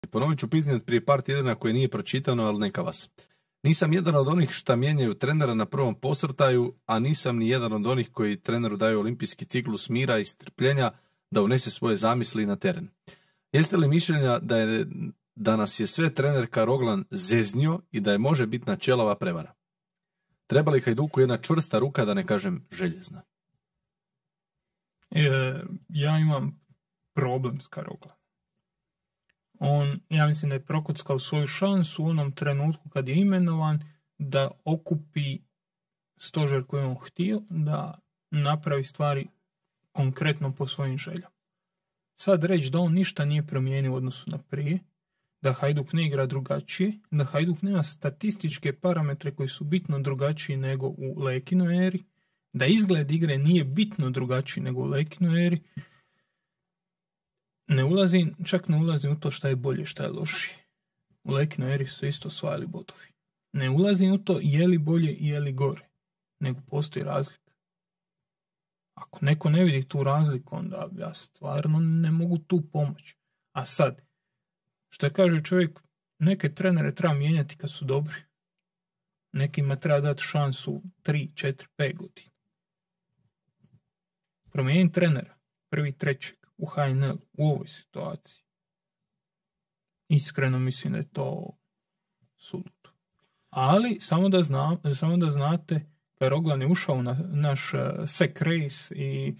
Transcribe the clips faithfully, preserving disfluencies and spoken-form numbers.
Ponovit ću pitanje od prije par tjedana koje nije pročitano, ali neka vas. Nisam jedan od onih šta mijenjaju trenera na prvom posrtaju, a nisam ni jedan od onih koji treneru daju olimpijski ciklus mira i strpljenja da unese svoje zamisli na teren. Jeste li mišljenja da, je, da nas je sve trenerka Roglan zeznio i da je može biti načelova prevara? Treba li Hajduku jedna čvrsta ruka, da ne kažem željezna? E, ja imam problem s Karoglan. On, ja mislim da je prokuckao svoju šansu u onom trenutku kad je imenovan da okupi stožer koji je on htio, da napravi stvari konkretno po svojim željama. Sad reći da on ništa nije promijenio u odnosu na prije, da Hajduk ne igra drugačije, da Hajduk nema statističke parametre koji su bitno drugačiji nego u Lekinoj eri, da izgled igre nije bitno drugačiji nego u Lekinoj eri, ne ulazim, čak ne ulazim u to šta je bolje, šta je lošije. U Lekinoj eri su isto osvajali bodovi. Ne ulazim u to je li bolje i je li gore, nego postoji razlika. Ako neko ne vidi tu razliku, onda ja stvarno ne mogu tu pomoći. A sad, što kaže čovjek, neke trenere treba mijenjati kad su dobri. Nekima treba dati šansu tri, četiri, pet godina. Promijeniti trenera, prvi, trećeg, u H N L, u ovoj situaciji. Iskreno mislim da je to suludo. Ali, samo da, zna, samo da znate, Roglan je ušao na naš uh, sek race i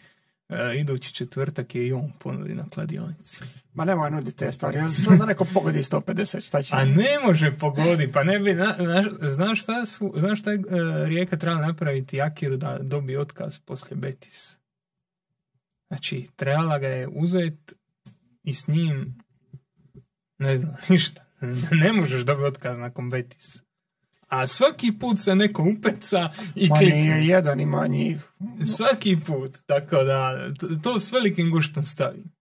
uh, idući četvrtak je i on ponudi na kladionici. Ma nemoj nuditi te stvari, sad da neko pogodi sto pedeset, šta će? A ne može pogodi, pa ne bi, na, na, znaš šta su, znaš šta je uh, Rijeka trebala napraviti Akiru da dobije otkaz poslije Betisa? Znači, trebala ga je uzeti i s njim, ne znam, ništa. Ne možeš dobiti otkaz nakon Betisa. A svaki put se neko upeca i Ma klikne. nije jedan, ima njih. Svaki put, tako da to s velikim guštom stavim.